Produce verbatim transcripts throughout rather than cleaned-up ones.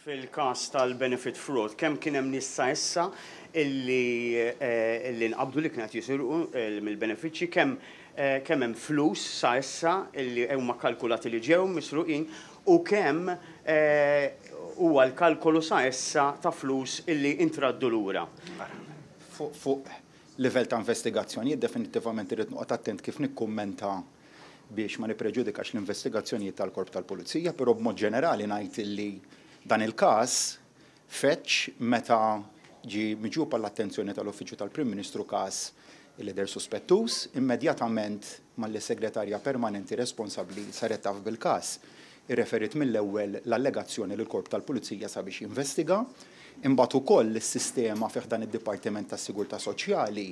Fil-każ tal-benefit fraud, kemm kien hemm nies sa issa illi eh, illi nqabdu li kienet jisirqu eh, mill-benefiċċji, kemm eh, kemm hemm flus sa issa illi huma kalkulati li ġew misruqin u kemm huwa l-kalkolu sa issa ta' flus illi intraddu lura? Fuq livell ta' investigazzjoni, definitivament irrid noqgħod attent kif nikkummenta biex ma nippreġudikax l-investigazzjonijiet tal-Korp tal-Pulizija, però b'mod ġenerali ngħid illi dan il-każ feġġ meta ġie miġjub għall-attenzjoni tal-Uffiċċju tal-Prim Ministru każ li deher suspettuż. Immedjatament mal-segretarja permanenti responsabbli saret taf bil-każ, irreferit mill-ewwel l-allegazzjoni lill-Korp tal-Pulizija sabiex jinvestiga. Imbagħad ukoll is-sistema fih dan id-Dipartiment tas-Sigurtà Soċjali,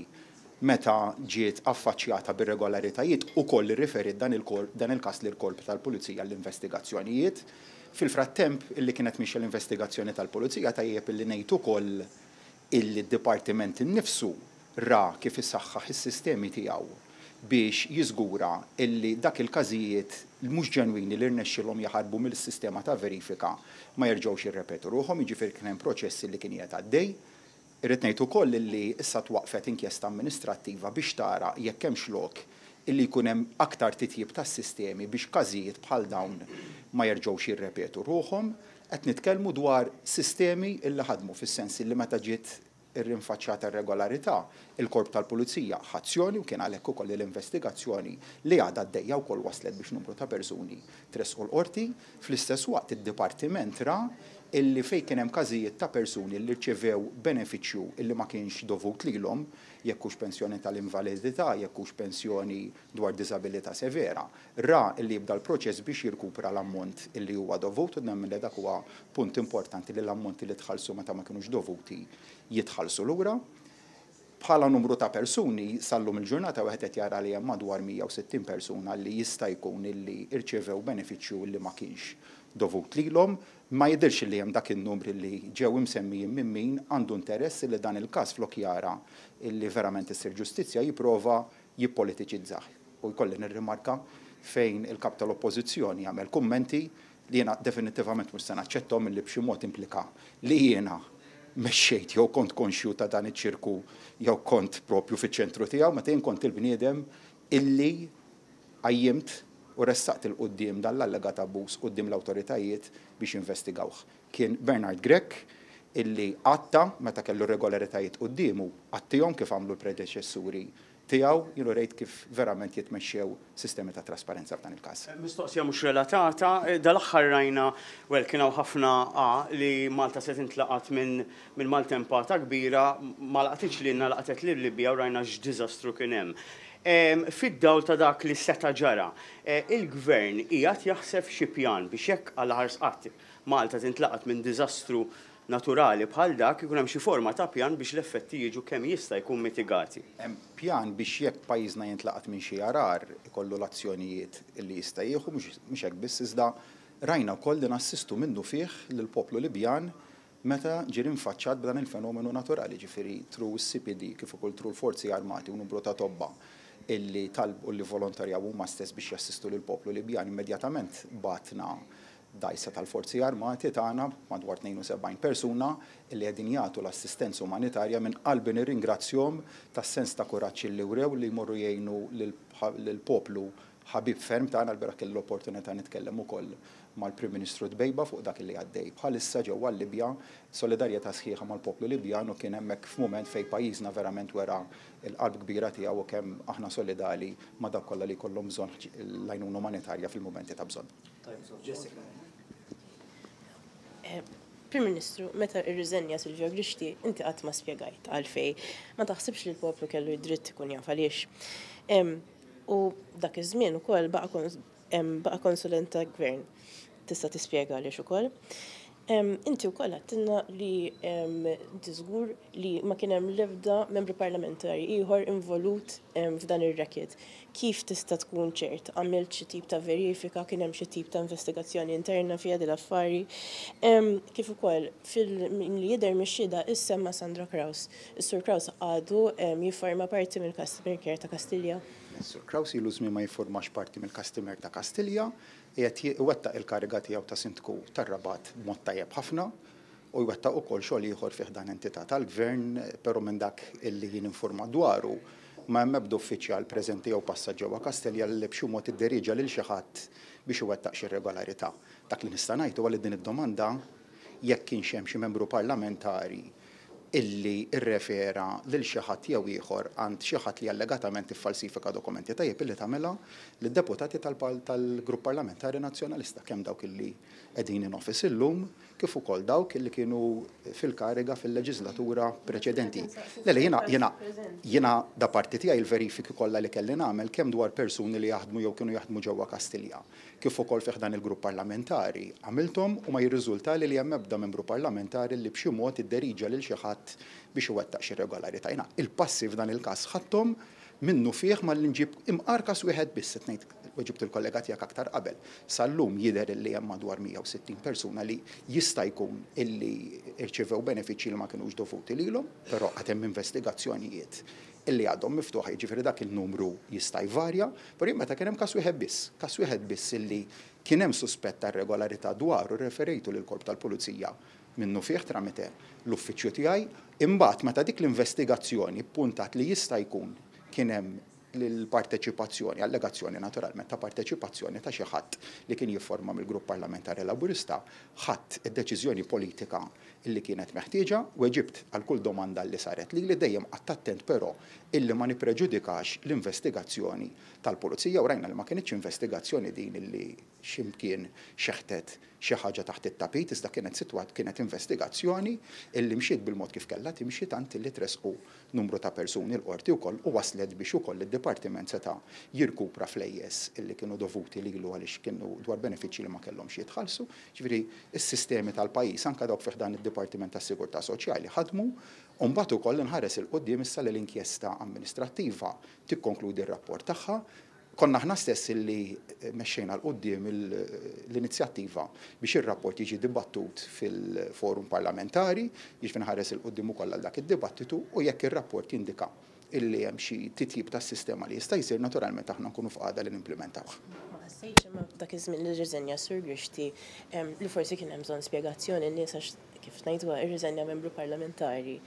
meta ġiet affaċċjata b'irregolaritajiet, ukoll irriferit dan il-każ lill-Korp tal-Pulizija l-investigazzjonijiet. Fil-frattemp illi kienet mixja l-investigazzjoni tal-Pulizija, tajjeb illi ngħid ukoll illi d-dipartiment innifsu ra kif issaħħaħ is-sistemi tiegħu biex jiżgura illi dak il-każijiet mhux ġenwini li rnexxilhom jaħarbu mill-sistema ta' verifika ma jerġgħux jirrepetu ruħhom, jiġifieri kien hemm proċessi li kien qiegħed għaddej. Irrid ngħid ukoll illi issa twaqfet inkjesta amministrattiva biex tara jekk hemmx lok illi jkun hemm aktar titjib tas-sistemi biex każijiet bħal dawn ma jerġgħux jirrepetu ruħhom. Qed nitkellmu dwar sistemi illi ħadmu, fis-sens illi meta ġiet irrinfaċċjata irregolarità, il-Korp tal-Pulizija ħa azzjoni u kien għalhekk ukoll l-investigazzjoni li għadha għaddejja wkoll waslet biex numru ta' persuni tressqu l-qorti. Fl-istess waqt, id-dipartiment ra illi fejn kien hemm każijiet ta' persuni li rċevew benefiċċju illi ma kienx dovut lilhom, jekk hux pensjoni tal-invalidità, jekk hux pensjoni dwar diżabilità severa, ra illi jibda l-proċess biex jirkupra l-ammont illi huwa dovut, u nemmen li dak huwa punt importanti, li l-ammonti li tħallsu meta ma kinux dovuti jitħallsu lura. Bħala numru ta' persuni, sal-lum il-ġurnata wieħed qed jara li hemm madwar mija u sittin persuna li jista' jkun illi irċevew benefiċċju li ma kienx dovut lilhom. Ma jidirx li hemm dak in-numri li ġew imsemmijin minn min għandu interess li dan il-każ, flok jara illi verament issir ġustizzja, jipprova jippolitiċizzah. U jkolli nirrimarka fejn il-kap tal-Oppożizzjoni jagħmel kummenti li jiena definitivament mhux se naċċettom, li b'xi mod implika li jiena mexxejt jew kont konxju ta' dan iċ-ċirku jew kont propju fiċ-ċentru tiegħu, meta jien kont il-bniedem illi qajjimt u ressaqt 'il quddiem dan l-allegat abbuż quddiem l-awtoritajiet biex investigawh. Kien Bernard Grech illi għatta meta kellu irregolaritajiet quddiemu, għattihom kif għamlu l-predeċessuri tiegħu. Jiena rejt kif verament jitmexxew sistemi ta' trasparenza f'dan il-każ. Mistoqsija mhux relatata: dal-aħħar rajna, well, kien hawn ħafna a li Malta se tintlaqat minn minn maltempata kbira, ma laqtitx lilna, laqtet lil Libja u rajna x'diżastru kien hemm. Fid-dawl ta' dak li seta' ġara, eh, il-gvern qiegħed jaħseb xi pjan biex jekk għal ħars qatt Malta tintlaqat minn diżastru naturali bħal dak, ikun hemm xi forma ta' pjan biex l-effetti jiġu kemm jista' jkun mitigati? Hemm pjan biex jekk pajjiżna jintlaqat minn xi għargħar ikollu l-azzjonijiet li jista' jieħu. Mhux hekk biss, iżda rajna wkoll li nassistu minnu fih lill-poplu Libjan meta ġie rinfaċċat b'dan il-fenomenu naturali, ġifieri through C P D kif ukoll through l-Forzi Armati u numru ta' tobba illi talbu li volontarjaw huma stess biex jassistu lill-poplu Libjan. Immedjatament bgħatna dgħajsa tal-Forzi Armati tagħna, madwar tnejn u sebgħin persuna illi qegħdin jagħtu l-assistenza umanitarja. Minn qalbi nirringrazzjahom tas-sens ta' kuraġġ li wrew li jmorru jgħinu lill-poplu ħabib ferm tagħna. L-bieraħ kelli l-opportunità nitkellem ukoll mal-Prim Ministru Dbejba fuq dak li għaddej bħalissa ġewwa Libja, solidarjetà sħiħa mal-poplu Libjan, u kien hemmhekk f'mument fejn pajjiżna verament wera l-qalb kbira tiegħu u kemm aħna solidali ma' dak kollha li jkollhom bżonn l-għajnuna umanitarja fil-mumenti ta' bżonn. Jessica. Eh, Prim Ministru, meta irriżenja Silvio Grixti, inti qatt ma spjegajt għalfej. Ma taħsibx li l-poplu kellu id-dritt ikun jaf għaliex? U dak iż-żmien ukoll baqa' konsulent ta' gvern. Tista' tispjega għaliex ukoll? Inti wkoll għedtilna li inti żgur li ma kien hemm l-ebda membru parlamentari ieħor involut f'dan ir-racket. Kif tista' tkun ċert? Għamilt xi tip ta' verifika, kien hemm xi tip ta' investigazzjoni interna fiha din l-affari? Kif ukoll fil-li jidher mix-xhieda issemma Sandro Craus. Is-Sur Craus għadu jifforma parti mill-customer care ta' Kastilja? Sur Craus ilu żmien ma jiffurmax parti mill-customer ta' Kastilja. Qiegħed iwettaq il-kariga tiegħu ta' sindku tar-Rabat b'mod tajjeb ħafna u jwettaq ukoll xogħol ieħor fih dan entità tal-gvern, però minn dak illi jien informat dwaru ma hemm ebda uffiċjal preżenti jew passat ġewwa Kastilja li b'xi mod idderiġa lil xi ħadd biex iwettaq xi irregolarità. Dak li nista' ngħid huwa li din id-domanda jekk kienx hemm xi membru parlamentari illi irrefera lil xi ħadd jew ieħor għand xi ħadd li allegatament iffalsifika dokumenti, tajjeb illi tagħmilha lid-deputati tal-Grupp Parlamentari Nazzjonalista, kemm dawk illi qegħdin in office illum kif ukoll dawk illi kienu fil-kariga fil-leġislatura preċedenti. Le, jiena jiena jiena da parti tiegħi il-verifiki kollha li kelli nagħmel, kemm dwar persuni li jaħdmu jew kienu jaħdmu ġewwa Kastilja, kif ukoll fih dan il-grupp parlamentari, għamilthom u ma jirriżulta li hemm ebda membru parlamentari li b'xi mod idderiġa lil xi ħadd biex iwettaq xi irregolarità. Jiena il-passi f'dan il-każ ħadthom minnu fih ma l-inġib imqar każ wieħed biss, qed ngħid weġibt il-kollega tiegħek aktar qabel. Sal-lum jidher li hemm madwar mija u sittin persuna li jista' jkun illi irċivew benefiċċji li ma kinux dovuti lilhom, però għad hemm investigazzjonijiet illi għadhom miftuħa, jiġifieri dak il-numru jista' jvarja, però jien meta kien hemm każ wieħed biss, każ wieħed biss illi kien hemm suspett ta' irregolarità dwaru, referejtu lill-Korp tal-Pulizija minnu fih tramite l-uffiċċju tiegħi. Imbagħad meta dik l-investigazzjoni ppuntat li jista' jkun kien hemm l-parteċipazzjoni, allegazzjoni naturalment ta' parteċipazzjoni ta' xi ħadd li kien jifforma mill-Grupp Parlamentari Laburista, ħadd id-deċiżjoni politika illi kienet meħtieġa u weġibt għal kull domanda li saret li li dejjem qatt attent però illi ma nippreġudikax l-investigazzjoni tal-pulizija, u rajna li ma kienitx investigazzjoni din illi x'imkien xeħtet xi ħaġa taħt it-tapit, iżda kienet sitwat kienet investigazzjoni illi mxiet bil-mod kif kellha timxi, tant illi tresqu numru ta' persuni l-qorti wkoll u waslet biex ukoll id-dipartiment seta' jirkupra flejjes illi kienu dovuti lilu għaliex kienu dwar benefiċċji li ma kellhomx jitħallsu. Ġifieri s-sistemi tal-pajjiż anke dawk fih dan id-Dipartiment tas-Sigurtà Soċjali ħadmu, u mbagħad ukoll inħares il quddiem issa li l-inkjesta amministrattiva tikkonkludi r-rapport tagħha. Konna aħna stess illi mexxejna 'l quddiem l-inizjattiva biex ir-rapport jiġi dibattut fil-forum parlamentari, jiġifieri nħares 'il quddiem ukoll għal dak id-dibattitu, u jekk ir-rapport jindika illi hemm xi titjib tas-sistema li jista' jsir, naturalment aħna nkunu f'qagħda li nimplementawh. Ma ħassejtx imma dak iż-żmien li rriżenja Sur Grixti li forsi kien hemm bżonn spjegazzjoni n-nies, għax kif ngħiduha irriżenja membru parlamentari,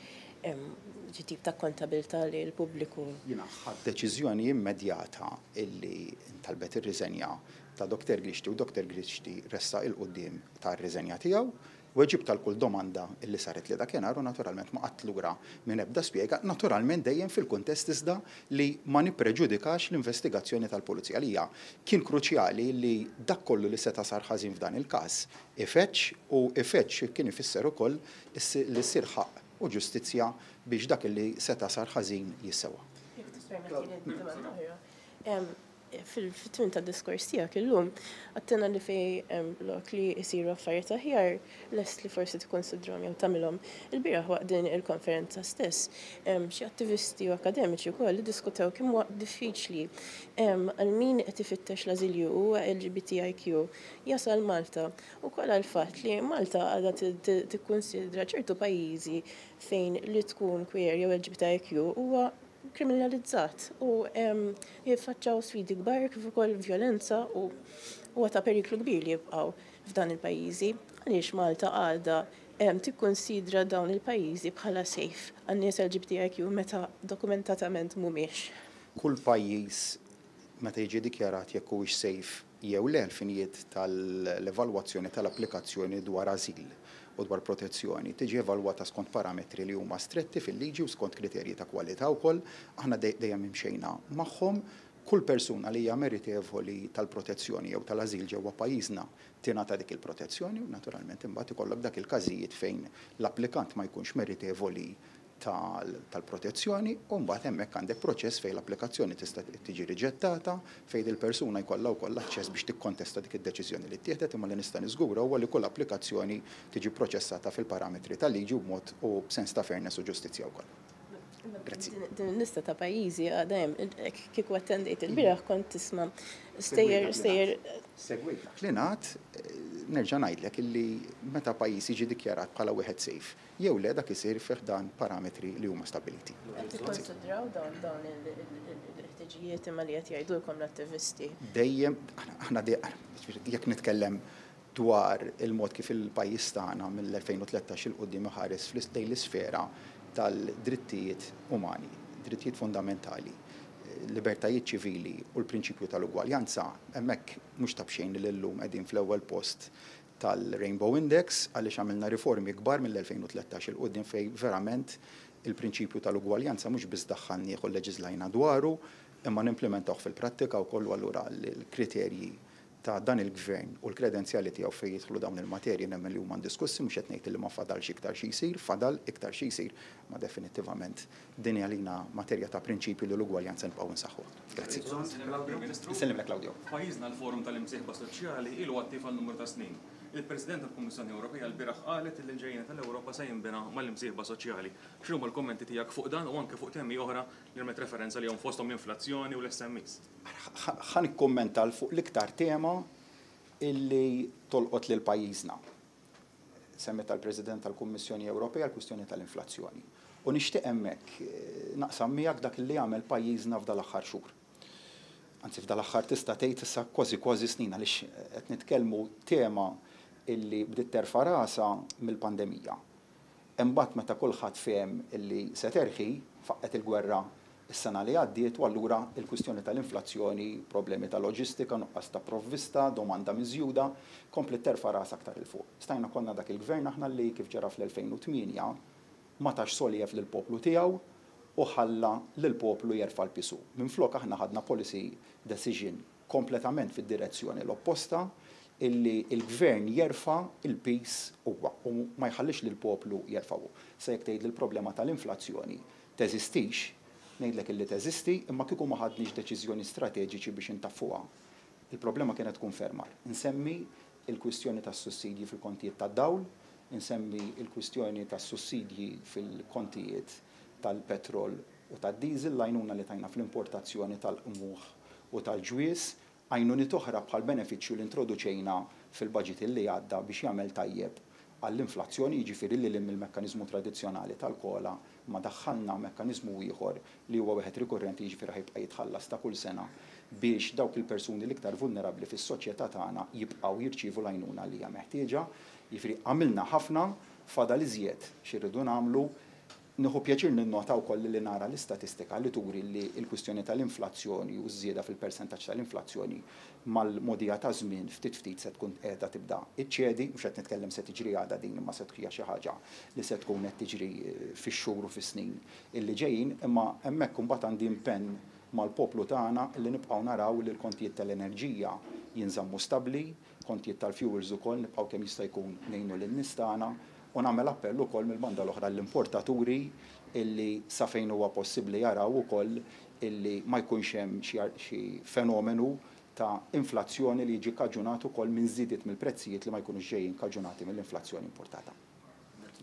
ġi tip ta' kontabilità li l-pubbliku. Jiena ħadt deċiżjoni immedjata illi ntalbet ir-riżenja ta' Doktor Grixti, u Doktor Grixti ressaq il quddiem tar-riżenja tiegħu, weġibt għal kull domanda illi saret li dakinhar u naturalment ma qatt lura minn ebda spjega, naturalment dejjem fil-kuntest iżda li ma nippreġudikax l-investigazzjoni tal-pulizija. Għalija kien kruċjali li dak kollu li seta' sar ħażin f'dan il-każ ifeċċ, u ifeċċ kien ifisser ukoll li ssir ħaqq u ġustizzja biex dak li seta' sar ħażin jissewa. Jekk tippermettili domanda oħra. Fil-tmiem tad-diskors tiegħek illum għattina li fej lok li jsiru affarijiet aħjar lest li forsi tikkonsidrhom jew tagħmilhom. Il-bieraħ waqt din il-konferenza stess, xi attivisti u akademiċi wkoll iddiskutew kemm huwa diffiċli għal min qed ifittex l-ażilju u L G B T I Q jasal Malta, ukoll għall-fatt li Malta għadha tikkunsidra ċertu pajjiżi fejn li tkun queer jew L G B T I Q huwa kriminalizzat u jiffaċċaw sfidi kbar kif ukoll vjolenza u huwa ta' periklu kbir li jibqgħu f'dan il-pajjiżi. Għaliex Malta għadha tikkonsidra dawn il-pajjiżi bħala safe għan-nies L G B T I Q meta dokumentatament mhumiex? Kull pajjiż meta jiġi dikjarat jekk huwiex safe jew le l-finijiet tal-evalwazzjoni tal-applikazzjoni dwar ażil u dwar protezzjoni tiġi evalwata skont parametri li huma stretti fil-liġi u skont kriterji ta' kwalità wkoll, aħna dejjem imxejna magħhom. Kull persuna li hija meritevoli tal-protezzjoni jew tal-ażil ġewwa pajjiżna tingħata dik il-protezzjoni, u naturalment imbagħad ikollok dak il-każijiet fejn l-applikant ma jkunx meritevoli tal-protezzjoni, u mbagħad hemmhekk għandek proċess fejn l-applikazzjoni tista' tiġi riġettata, fejn il-persuna jkollha wkoll aċċess biex tikkontesta dik id-deċiżjoni li ttieħdet, imma li nista' niżgura huwa li kull applikazzjoni tiġi proċessata fil-parametri tal-liġi u b'mod u b'sens ta' fairness u ġustizzja wkoll. Grazzi. Din il-lista ta' pajjiżi għadha hemm, kieku attendejt il-bieraħ kont tisma' stejjer stejjer. Segwejt dak li ngħad, Nerġa' ngħidlek illi meta pajjiż jiġi dikjarat bħala wieħed safe, jew le, dak isir fih dan parametri li huma stabiliti. Qed tikkonsidraw dawn dawn il-ħtiġijiet imma li qed jgħidulkom l-attivisti? Dejjem, aħna jekk nitkellem dwar il-mod kif il-pajjiż tagħna mill-elfejn u tlettax 'il quddiem iħares fl-lejn l-isfera tal-drittijiet umani, drittijiet fundamentali, libertajiet ċivili u l-prinċipju tal-ugwaljanza, hemmhekk mhux ta' b'xejn li llum qegħdin fl-ewwel post tal-Rainbow Index, għaliex għamilna riformi kbar mill-elfejn u tlettax 'il quddiem fejn verament il-prinċipju tal-ugwaljanza mhux biss daħħalnieh u leġiżlajna dwaru, imma nimplementawh fil-prattika wkoll. Allura l-kriterji ta' dan il-gvern u l-kredenzjali tiegħu fejn jidħlu dawn il-materji nemmen li huma indiskussi. Mhux qed ngħid li ma fadalx iktar xi jsir, fadal iktar xi jsir, ma definittivament din hija lina materja ta' prinċipju li l-ugwaljanza nibqgħu nsaħħu. Grazzi. Nsellimlek, Claudio. Pajjiżna l-Forum tal-Imsieħba Soċjali ilu attiv għal numru ta' snin. Il-President tal-Kummissjoni Ewropea l-bieraħ qalet li l-ġejjieni tal-Ewropa se jinbena mal-imsieħba soċjali. X'inhuma l-kummenti tiegħek fuq dan u anke fuq temi oħra li rmet referenza li hom fosthom l-inflazzjoni u l-S M Es? Ħa nikkummenta fuq l-iktar tema illi tolqot lil pajjiżna. Semmet tal-President tal-Kummissjoni Ewropea l-kwistjoni tal-inflazzjoni. U nixtieq hemmhekk, eh, naqsam miegħek dak li għamel pajjiżna f'dal-aħħar xhur. Anzi, f'dal-aħħar tista' tgħid issa kważi kważi snin, għaliex qed nitkellmu tema illi bdiet terfa' rasha mill-pandemija. Imbagħad meta kulħadd fehem illi se terħi, faqqet il-gwerra is-sena li għaddiet, u allura il-kwistjoni tal-inflazzjoni, problemi ta' loġistika, nuqqas ta' provvista, domanda miżjuda, komplet terfa' rasha aktar 'il fuq. Stajna konna dak il-gvern aħna li kif ġara fl-elfejn u tmienja ma tax soljev lill-poplu tiegħu u ħalla lill-poplu jerfa' l-pisu. Minflok aħna ħadna policy decision kompletament fid-direzzjoni l-opposta, illi il-gvern jerfa' il-pis huwa u ma jħallix lill-poplu jerfgħu. Se jekk tgħid li l-problema tal-inflazzjoni teżistix, ngħidlek illi teżisti, imma kieku ma ħadniex deċiżjoni strateġiċi biex intaffuha, il-problema kienet tkun fermar. Insemmi il-kwistjoni tas-sussidji fil-kontijiet tad-dawl, insemmi il-kwistjoni tas-sussidji fil-kontijiet tal-petrol u tad-diesel, l-għajnuna li tajna fl-importazzjoni tal-qmuħ u tal-ġwies, għajnuniet oħra bħal benefiċċju li introduċejna fil-budget li għadda biex jagħmel tajjeb għall-inflazzjoni, jiġifieri li lim il-mekkaniżmu tradizzjonali tal-kola ma daħħalna mekkaniżmu ieħor li huwa wieħed rikurrenti, jiġifieri ħajbqa' jitħallas ta' kull sena biex dawk il-persuni l-iktar vulnerabbli fis-soċjetà tagħna jibqgħu jirċievu l-għajnuna li hija meħtieġa. Jiġifieri għamilna ħafna, fadal iżjed xi rridu nagħmlu. Nieħu pjaċir ninnota wkoll li nara l-istatistika li turi li l-kwistjoni tal-inflazzjoni u ż-żieda fil-persentaġġ tal-inflazzjoni mal-modija ta' żmien ftit ftit se tkun qiegħda tibda iċċedi, mhux qed nitkellem se tiġri għada din, imma se tkun xi ħaġa li se tkun qed tiġri fix-xhur u fis-snin illi ġejjin, imma hemmhekk imbagħad għandi impenn mal-poplu tagħna li nibqgħu naraw li l-kontijiet tal-enerġija jinżammu stabbli, kontijiet tal-fuels ukoll nibqgħu kemm jista' jkun ngħinu lin-nies tagħna, u nagħmel appell ukoll mill-banda l-oħra l-importaturi illi sa fejn huwa possibbli jaraw ukoll illi ma jkunx hemm xi ar-, xi fenomenu ta' inflazzjoni li jiġi kaġunat ukoll minn żidiet mill-prezzijiet li ma jkunux ġejjin kaġunati mill-inflazzjoni importata.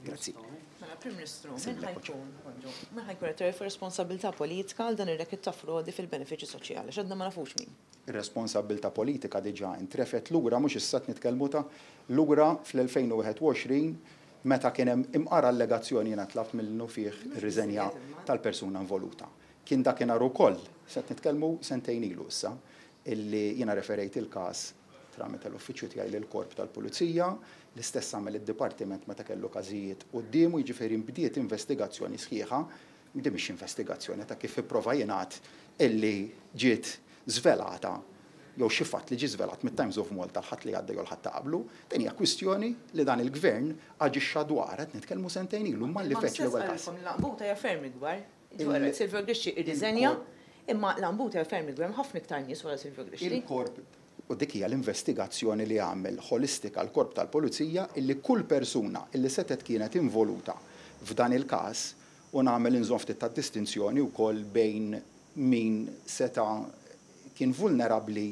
Grazzi. Mela, Prim Ministru, min Semmilek, ħajkun, bonġu, min ħajkun qed jerfa' responsabilità politika għal dan ir-racket ta' frodi fil-benefiċċji soċjali? X'għadna ma nafux min. Ir-responsabilità politika diġà intrefet lura, mhux issa qed nitkellmu ta' lura fl-elfejn u wieħed u għoxrin meta kien hemm imqara allegazzjoni jiena tlabt mill-nufih ir-riżenja tal-persuna involuta. Kien dakinhar ukoll, se qed nitkellmu sentejn ilu issa, illi jiena referejt il-każ tramite l-uffiċċju tiegħi lill-korp tal-Pulizija, l-istess għamel id-dipartiment meta kellu każijiet quddiemu, jiġifieri nbdiet investigazzjoni sħiħa, din mhix investigazzjoni ta' kif ipprova jingħad illi ġiet żvelata jew xi fatt li ġie żvelat mit-Times of Malta l-ħadd li għadda jew l-ħadd ta' qablu, din hija kwistjoni li dan il-gvern aġixxa dwar, qed nitkellmu sentejn ilu, malli Ma feċ l-ewwel stess każ. qalilkom l-għanbuta hija ferm ikbar. Il- Ġwara, Silvio Grixti irriżenja, il-korp imma l-għanbuta hija ferm ikbar, hemm ħafna iktar nies wara Silvio Grixti. Il-korp, u dik hija l-investigazzjoni li għamel ħolistika l-korp tal-Pulizija, illi kull persuna illi setet kienet involuta f'dan il-każ, u nagħmel inżomm ftit ta' distinzjoni wkoll bejn min seta' kien vulnerabbli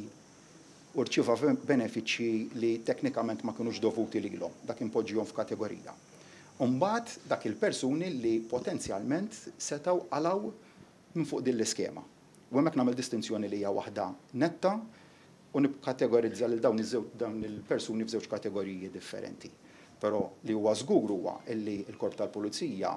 u rċieva benefiċċji li teknikament ma kinux dovuti lilhom, dak impoġġihom f'kategorija. Imbagħad dak il-persuni li potenzjalment setgħu qalgħu minn fuq din l-iskema. U hemmhekk nagħmel distinzjoni li hija waħda netta U nikkategorizza lil dawn dawn il-persuni f'żewġ kategoriji differenti. Però li huwa żgur huwa illi l-Korp tal-Pulizija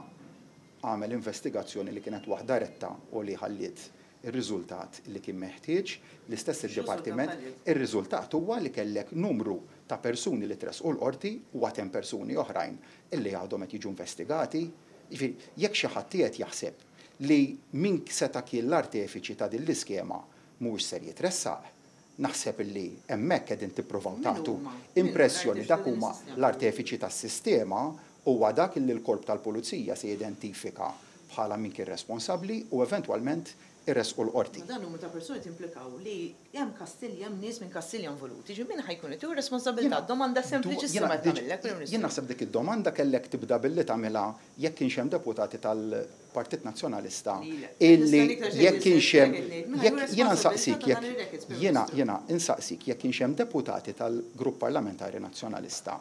għamel investigazzjoni li kienet waħda retta u li ħalliet ir-riżultat li kien meħtieġ. L-istess il-dipartiment, ir-riżultat huwa li kellek numru ta' persuni li tressqu l-qorti u għad hemm persuni oħrajn illi għadhom qed jiġu investigati. Jiġifieri, jekk xi ħadd qiegħed jaħseb li min seta' kien l-artefiċi ta' din l-iskema mhuwiex ser jitressaq, naħseb illi hemmhekk qegħdin tippruvaw tagħtu impressjoni. Dak huma l-artefiċi tas-sistema huwa dak li l-Korp tal-Pulizija se jidentifika bħala min kien responsabbli u eventwalment irresqu l-qorti. Dan numru ta' persuni timplikaw li hemm Kastilja, hemm nies minn Kastilja involuti. Ġi min ħa jkun qed responsabilità? Domanda sempliċissima tagħmillek. Jien naħseb dik id-domanda kellek tibda billi tagħmilha jekk kienx hemm deputati tal-Partit Nazzjonalista illi jekk kienx hemm, jiena nsaqsik jekk jiena jiena insaqsik jekk kienx hemm deputati tal-Grupp Parlamentari Nazzjonalista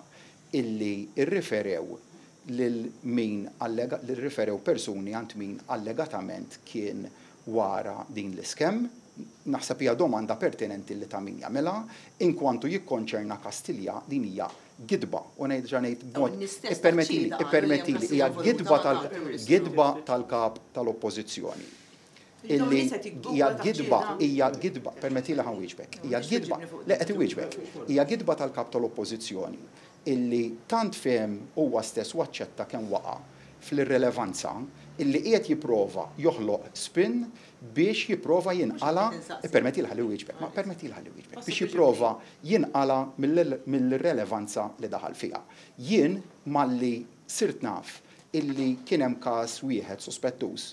illi irriferew lil min allega, li rriferew persuni għand min allegatament kien wara din l-iskem. Naħseb hija domanda pertinenti li ta' min jagħmilha. Inkwantu jikkonċerna Kastilja, din hija gidba, u ngħid ngħid b'mod, ippermettili, ippermettili, hija gidba tal gidba tal-kap tal-Oppożizzjoni. Illi hija gidba, hija gidba, permettili ħa nwieġbek, hija gidba, le qed iwieġbek, hija gidba tal-kap tal-Oppożizzjoni illi tant fehem huwa stess u aċċetta kemm waqa' fl-irrelevanza illi qiegħed jipprova joħloq spin biex jipprova jinqala, permetti ħalli wieġbek, ma permetti ħalli wieġbek, biex jipprova jinqala mill-irrelevanza li daħal fiha. Jien malli sirt naf illi kien hemm każ wieħed sospettuż,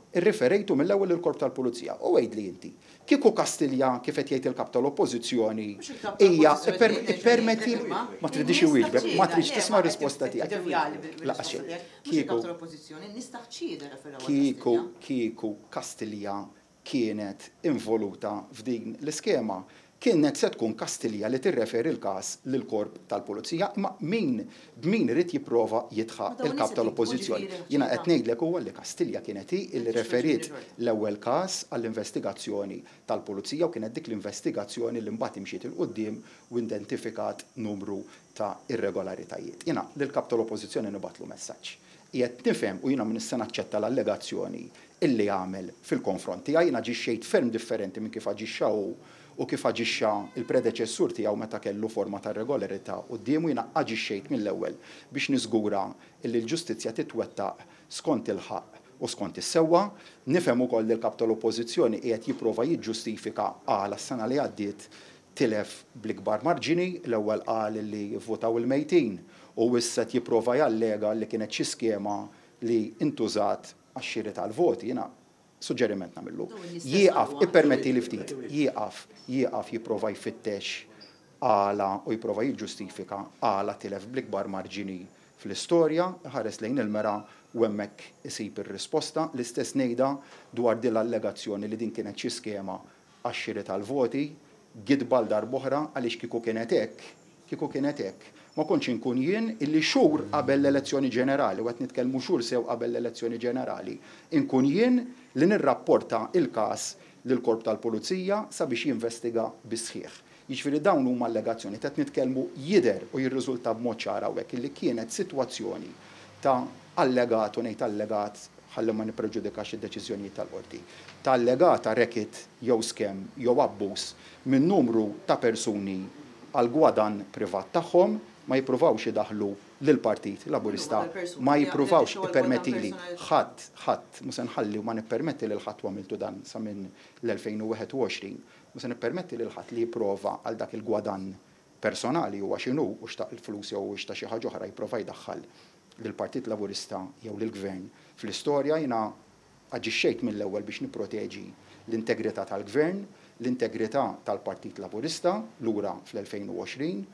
irriferejtu mill-ewwel il-Korp tal-Pulizija. U għidli inti, kieku Kastilja, kif qed jgħid il-kap tal-Oppożizzjoni, hija, ippermetti, ma tridix iwieġbek, ma tridx tisma' risposta tiegħek. Laqas xejn. Kieku kieku kieku Kastilja kienet involuta f'din l-iskema, kienet se tkun Kastilja li tirreferi l-każ lill-Korp tal-Pulizija, imma min b'min irid jipprova jidħaq il-kap tal-Oppożizzjoni? Jiena qed ngħidlek huwa li Kastilja kienet hi li referiet l-ewwel każ għall-investigazzjoni tal-Pulizija u kienet dik l-investigazzjoni li mbagħad imxiet 'il quddiem u identifikat numru ta' irregolaritajiet. Jiena lill-kap tal-Oppożizzjoni nibgħatlu messaġġ. Qiegħed nifhem u jiena minn issa naċċetta l-allegazzjoni illi għamel fil-konfront tiegħi. Jiena aġixxejt ferm differenti minn kif aġixxa hu u kif aġixxa il-predeċessur tiegħu meta kellu forma ta' regolarità quddiemu. Jiena aġixxejt mill-ewwel biex niżgura illi l-ġustizzja titwettaq skont il-ħaqq u skont is-sewwa. Nifhem ukoll li l-kap tal-Oppożizzjoni qiegħed jipprova jiġġustifika għala s-sena li għaddiet tilef bl-ikbar marġini. L-ewwel qal li vvotaw il-mejtin u issa qed jipprova jallega li kienet xi skema li intużat għax-xiri tal-voti. Jiena suġġeriment nagħmillu. Jieqaf, ippermetti li ftit, jieqaf, jieqaf jipprova jfittex għala u jipprova jiġġustifika għala tilef bl-ikbar marġini fl-istorja, ħares lejn il-mera u hemmhekk isib ir-risposta. L-istess ngħidha dwar din l-allegazzjoni li din kienet xi skema għax-xiri tal-voti, gidba l darb'oħra, għaliex kieku kienet hekk, kieku kienet hekk, ma kontx inkun jien illi xhur qabel l-elezzjoni ġenerali, u qed nitkellmu xhur sew qabel l-elezzjoni ġenerali, inkun jien li nirrapporta il-każ lill-Korp tal-Pulizija sabiex jinvestiga bis-sħiħ. Jiġifieri dawn huma allegazzjoni qed nitkellmu jidher u jirriżulta b'mod ċar hawnhekk illi kienet sitwazzjoni ta' allegat, u ngħid allegat ħalli ma nippreġudikax id-deċiżjonijiet tal-qorti, ta' allegata racket jew skem jew abbuż minn numru ta' persuni għal gwadan privat tagħhom. Ma jippruvawx idaħlu lill-Partit Laburista, ma jippruvawx, ippermettili, ħadd, ħadd, mhux se nħalli u ma nippermetti lil ħadd, u għamiltu dan sa minn l-elfejn u wieħed u għoxrin, mhux se nippermetti lil ħadd li jipprova għal dak il-gwadan personali, huwa x'inhu, u xtaq il-flus jew xtaq xi ħaġa oħra, jipprova jdaħħal lill-Partit Laburista jew lill-Gvern fl-istorja. Jiena aġixxejt mill-ewwel biex nipproteġi l-integrità tal-Gvern, l-integrità tal-Partit Laburista lura fl-elfejn u għoxrin,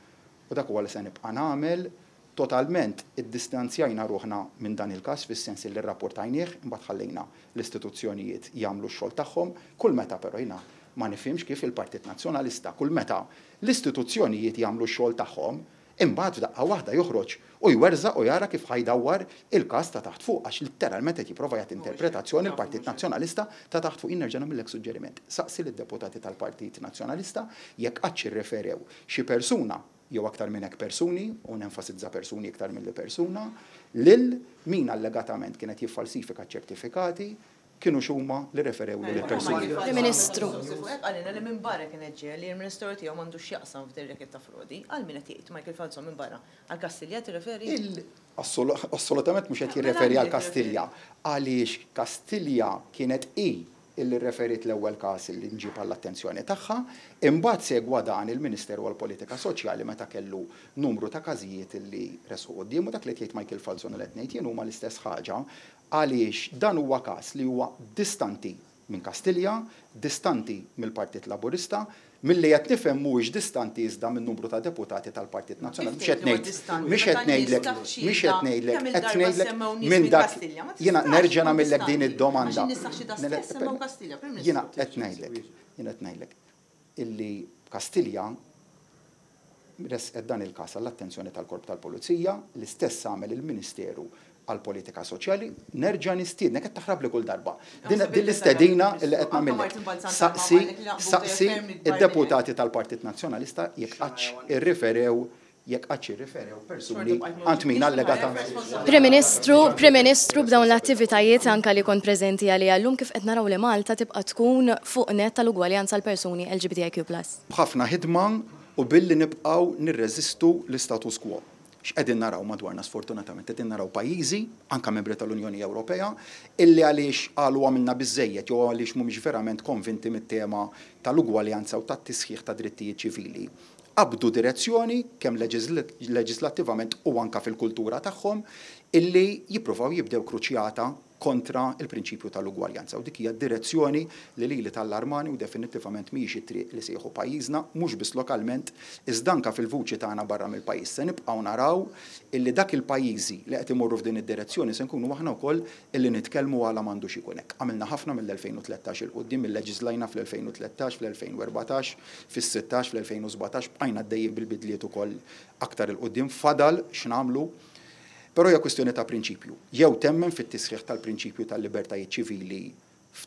u dak huwa li se nibqa' nagħmel. Totalment iddistanzjajna ruħna minn dan il-każ fis-sens li rrapportajnieh, imbagħad ħallejna l-istituzzjonijiet jagħmlu x-xogħol tagħhom. Kull meta però jiena ma nifhimx kif il-Partit Nazzjonalista, kull meta l-istituzzjonijiet jagħmlu x-xogħol tagħhom, Imbagħad f'daqqa waħda joħroġ u jwerżaq u jara kif ħa jdawwar il-każ ta' taħt fuq, għax litteralment qed jipprova jagħti interpretazzjoni l-Partit Nazzjonalista ta' taħt fuq. Jien nerġa' nagħmillek suġġeriment. Saqsi lid-deputati tal-Partit Nazzjonalista jekk qattx irreferew xi persuna jew aktar minn hekk persuni, u nenfasizza persuni iktar milli persuna, lil min allegatament kienet jiffalsifika ċertifikati, kienu xuma li referew lil persuni. Prim Ministru. Qalilna li minn barra kien ġej li l-Ministeru tiegħu m'għandux x'jaqsam f'din racket ta' frodi. Għal min qed jgħid Michael Falzon minn barra? Għal Kastilja tirreferi? Assolutament mhux qed jirreferi għal Kastilja. Għaliex Kastilja kienet i illi referit l-ewwel każ li nġib għall-attenzjoni tagħha, imbagħad segwa dan il-Ministeru għall-Politika Soċjali meta kellu numru ta' każijiet illi resqu quddiem, u dak li jgħid Michael Falzon u qed ngħid jien huma l-istess ħaġa, għaliex dan huwa każ li huwa distanti minn Kastilja, distanti mill-Partit Laburista, milli qed nifhem mhuwiex distanti iżda minn numru ta' deputati tal-Partit Nazzjonali. Mhux qed ngħid, mhux qed ngħidlek, mhux qed ngħidlek, qed ngħidlek minn dak jiena nerġa' nagħmellek din id-domanda. Jiena qed ngħidlek, jiena qed ngħidlek illi Kastilja resqet dan il-każ għall-attenzjoni tal-Korp tal-Pulizija, l-istess għamel il-Ministeru għall-Politika Soċjali. Nerġa' nistiednek, qed taħrab li kull darba. Din l-istedina li qed nagħmillek. Saqsi, saqsi id-deputati tal-Partit Nazzjonalista jekk qattx irriferew jekk qattx irriferew persuni għand min allegata. Prim Ministru, Prim Ministru, b'dawn l-attivitajiet anka li kont preżenti għalija llum, kif qed naraw li Malta tibqa' tkun fuq net tal-ugwaljanza għal persuni L G B T I Q plus. B'ħafna ħidma u billi nibqgħu nirreżistu l-istatus quo. X'qegħdin naraw madwarna sfortunatament? Qegħdin naraw pajjiżi, anka membri tal-Unjoni Ewropea, illi għaliex qalu għamilna biżejjed jew għaliex mhumiex verament konvinti mit-tema tal-ugwaljanza u tat-tisħiħ ta' drittijiet ċivili, qabdu direzzjoni kemm leġislattivament u anka fil-kultura tagħhom illi jippruvaw jibdew kruċjata kontra il-prinċipju tal-ugwaljanza. U dik hija direzzjoni li lili tallarmani u definitivament mhijiex it-triq li se jieħu pajjiżna, mhux biss lokalment, iżda anka fil-vuċi tagħna barra mill-pajjiż. Se nibqgħu naraw illi dak il-pajjiżi li qed imorru f'din id-direzzjoni se nkunu aħna wkoll illi nitkellmu għala m'għandux ikun hekk. Għamilna ħafna mill-elfejn u tlettax 'il quddiem, illeġiżlajna fl-elfejn u tlettax, fl-elfejn u erbatax, fis-sittax, fl-elfejn u sbatax, bqajna għaddejjin bil-bidliet ukoll aktar 'il quddiem, fadal x'nagħmlu. Però hija kwestjoni ta' prinċipju. Jew temmen fit-tisħiħ tal-prinċipju tal-libertajiet ċivili,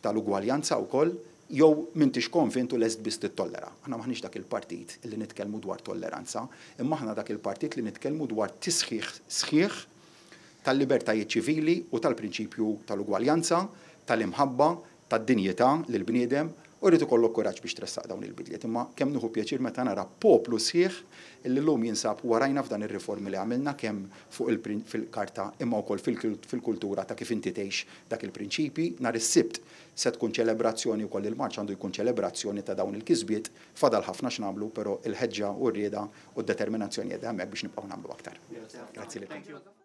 tal-ugwaljanza wkoll, jew m'intix konvintu lest biss tittollera. Aħna maħniex dak il-partit li nitkellmu dwar tolleranza, imma aħna dak il-partit li nitkellmu dwar tisħiħ sħiħ tal-libertajiet ċivili u tal-prinċipju tal-ugwaljanza, tal-imħabba, tad-dinjità lil bniedem u rrid ikollok kuraġġ biex tressaq dawn il-bidliet. Imma kemm nieħu pjaċir meta nara poplu sħiħ illi llum jinsab warajna f'dan ir-riformi li għamilna kemm fuq fil-karta imma wkoll fil-kultura ta' kif inti tgħix dak il-prinċipi. Nhar is-Sibt se tkun ċelebrazzjoni wkoll, il-marċ għandu jkun ċelebrazzjoni ta' dawn il-kisbiet. Fadal ħafna x'nagħmlu, però il-ħeġġa u r-rieda u d-determinazzjoni qiegħda hemmhekk biex nibqgħu nagħmlu aktar. Grazzi lilkom.